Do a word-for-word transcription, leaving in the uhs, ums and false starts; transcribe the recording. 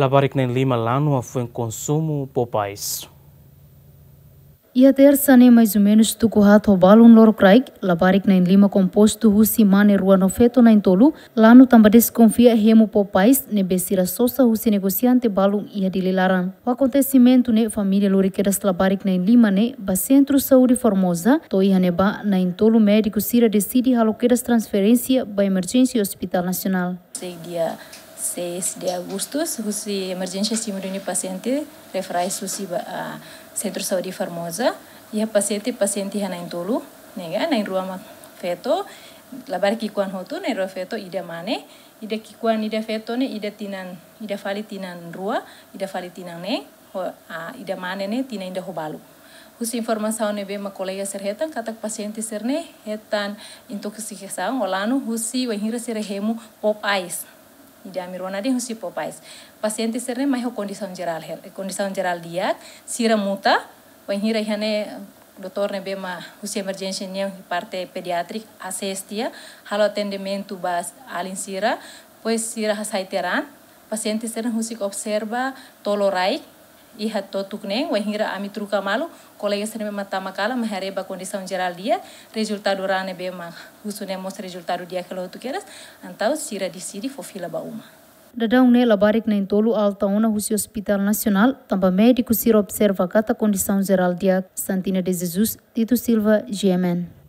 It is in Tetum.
Labarik na'in-lima lanu hafoin konsumu Popeyes. Iha tersa ne'e, mais ou menus tuku haat ho balun lorokraik, labarik na'in-lima kompostu husi mane rua no feto na'in-tolu lanu tanba deskonfia hemu Popeyes ne'ebé sira sosa husi negosiante balun iha Dili laran. Ho akontesimentu ne'e, família lori kedas labarik na'in-lima ne'e ba Sentru Saúde Formosa, to'o iha ne'ebá na'in-tolu médiku sira deside halo kedas transferénsia ba Emerjénsia Hospital Nasionál. Sei dia seis de Agustus, husi emerjénsia simu duni pasiente, referais husi ba, ah, Sentru Saúde Formosa, iha pasiente, pasiente iha na'in-tolu, ne'e ka, na'in-rua mak feto, labarik ki'ikoan hotu, na'in-rua feto, ida mane, ida ki'ikoan, ida feto ne'e, ida tinan, ida fali tinan rua, ida fali tinan neen, ho, ah, ida mane ne'e, tinan ida ho balu. Husi informasaun ne'ebé mak kolega sira hetan, katak pasiente sira-ne'e hetan intoksikasaun, ou lanu husi wainhira sira hemu Popeyes. Ida ami rona de'it husi Popeyes. Pasiente sira-ne'e mai ho kondisaun jerál hela, kondisaun jerál di'ak, sira muta, wainhira iha ne'e doutór ne'ebé mak husi emerjénsia nian parte pediatrik ases tiha, halo atendimentu ba alin sira, depois sira hasai tiha an, pasiente sira husik observa tolu rai, iha totuk neen, wainhira ami troka malu, kolega sira ne'ebé mak tama kalan, mai haree ba kondisaun jerál di'ak, rezultadu rai ne'ebé mak husu ne'e mós rezultadu di'ak hela hotu kedas, entaun sira deside fó fila ba uma. Daudaun ne'e labarik na'in-tolu alta ona husi Hospital Nasionál, tanba médiku sira observa katak kondisaun jerál di'ak. Santina de Jesus, Tito Silva, G M N.